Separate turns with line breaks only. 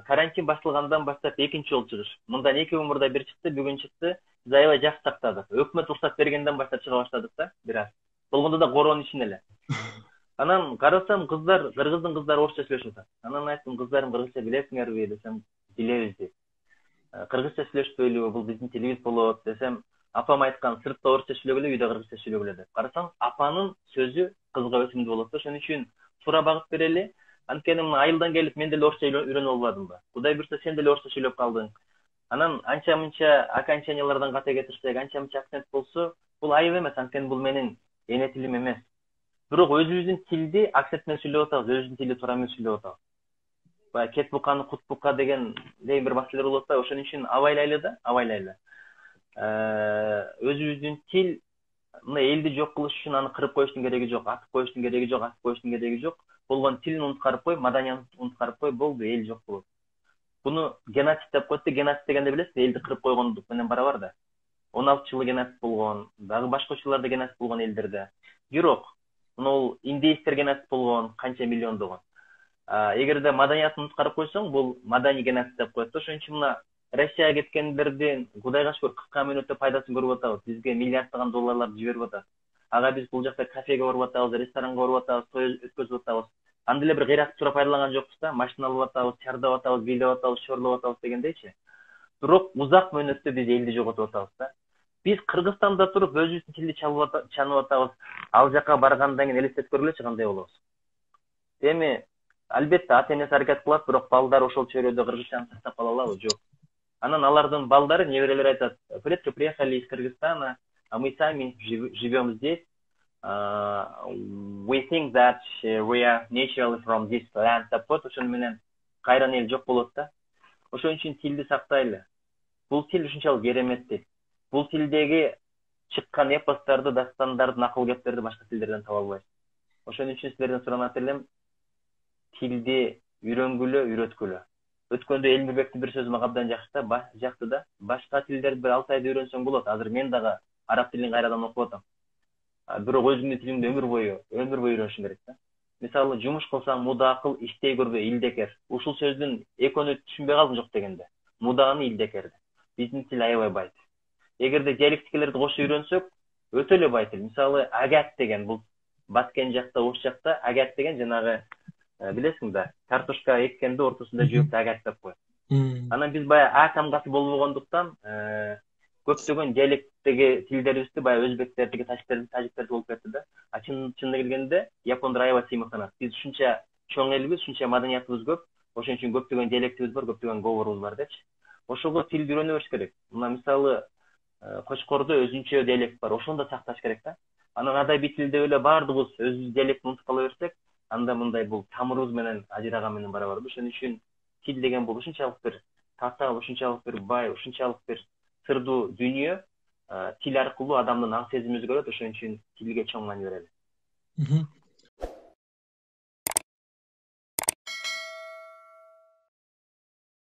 карантин башталгандан баштап экинчи жолу чыгыш. Мындан 2 күн мурда бир чыкты, бүгүн чыкты. Биз аябай жакшы тактадык. Өкмөт уруксат бергенден баштап чыга баштадык да, бир аз. Болгондо да коронун ичинде эле. Анан карасам кыздар, кыргыздын кыздары орусча сүйлөшүп атат. Анан айттым, кыздарым кыргызча билесиңерби десем, билебиз дейт. Кыргызча сүйлөшпөйлүбү, бул биздин тилибиз болот десем, апам айткан сыртта орусча сүйлөгүлө, үйдө кыргызча сүйлөгүлө деп. Карасаң, апанын сөзү кызга өтүмдүү болот да, ошон үчүн туура багыт берели. Анткени мына айылдан келип мен деле орусча үйрөнүп албадымбы? Кудай буйрса сен деле орусча сүйлөп калдың. Анан анча-мынча окончаниялардан ката кетирсек, анча-мынча акцент болсо, бул айып эмес, анткени бул менин эне тилим эмес. Бирок өзүбүздүн тилди акцент менен сүйлөп атабыз, өзүбүздүн тилди туура менен сүйлөп атабыз. Баягы кет буканы кут бука деген бир маселелер болот да, ошон үчүн абайлайлы. Өзүбүздүн тил мына элди жок кылыш үчүн аны кырып коюштун кереги жок, атып коюштун кереги жок. Болгон тилин унуткарып кой, маданиятын унуткарып кой, болду, эл жок болот. Буну геноцид деп коет да, геноцид дегенде билесиз, элди кырып койгондук менен барабар да. 16-жылы геноцид болгон, дагы башка учурларда геноцид болгон элдерде. Бирок, мына индейстер геноцид болгон, канча миллиондогон. Эгерде маданиятын унуткарып койсоң, бул маданий геноцид деп коет да. Ошон үчүн мына Россияга кеткендердин Кудайга шүгүр 40 мүнөттө пайдасын көрүп атабыз. Бизге миллиарддаган долларларды жиберип атат. Ага биз бул жакта кафеге барып атабыз, ресторанга барып атабыз, той өткөзүп атабыз. Анда эле бир кыйракты туура пайдаланган жокпуз да, машина алып атабыз, чардап атабыз, бийлеп атабыз, шорлоп атабыз дегендейчи. Бирок узак мөөнөттө биз элди жоготуп атабыз да. Биз Кыргызстанда туруп өзүбүздүн тилди чанып атабыз. Ал жака баргандан кийин элестетип көргүлөчү кандай болобуз. Эми албетте ата-энеси аракет кылат, бирок балдар ошол чөйрөдө кыргызчаны сактап кала алабы? Жок. Анан алардын балдары, неберелери айтат: "Предки приехали из Кыргызстана, а мы сами живем здесь. We think that we are naturally from this land." деп коет. Ошон менен кайран эл жок болот да. Ошон үчүн тилди сактайлы. Бул тил ушунчалык кереметтик. Бул тилдеги чыккан эпостарды, дастандарды, накыл кептерди башка тилдерден таба албайсыз. Ошон үчүн силерден суранат элем, тилди үйрөнгүлө, үйрөткүлө. Өткөндө Элмирбектин бир сөзү мага абдан жакты да. Башка тилдерди бир 6 айда үйрөнсөң болот. Азыр мен дагы араб тилин кайрадан окуп атам. Бирок өзүңдүн тилиңди өмүр бою үйрөнүшүң керек да. Мисалы, жумуш кылсаң муда кыл, иштей көрбө, илдекер. Ушул сөздүн экөөнү түшүнбөй калдым жок дегенде. Муданы илдекер. Биздин тил аябай байт. Эгерде диалектикалерди кошо үйрөнсөк, өтө эле байт. Мисалы, агат деген бул Баткен жакта, Ош жакта агат деген жанагы билесиң да, картошка эккенде ортосунда жөөктү агат деп коет. Анан биз баягы а тамгасы болбогондуктан көптөгөн диалекттеги тилдерибизди баягы өзбектердики, тажиктердики болуп кетти да. Чынына келгенде япондор аябай сыймыктанат. Биз ушунча чоң элбиз, ушунча маданиятыбыз көп, ошон үчүн көптөгөн диалектибиз бар, көптөгөн говорубуз бар депчи. Ошого тилди үйрөнө бериш керек. Мына мисалы, Кочкордо өзүнчө диалект бар, ошону да сакташ керек да. Анан адабий тилде эле баардыгыбыз өзүбүздүн диалектти унутуп кала берсек, анда мындай бул тамырыбыз менен ажыраган менен барабар. Ошон үчүн тил деген бул ушунчалык бир тата, ушунчалык бир бай, ушунчалык бир сырдуу дүйнө. Тил аркылуу адамдын аң сезими өзгөрөт, ошон үчүн тилге чоң маани берели.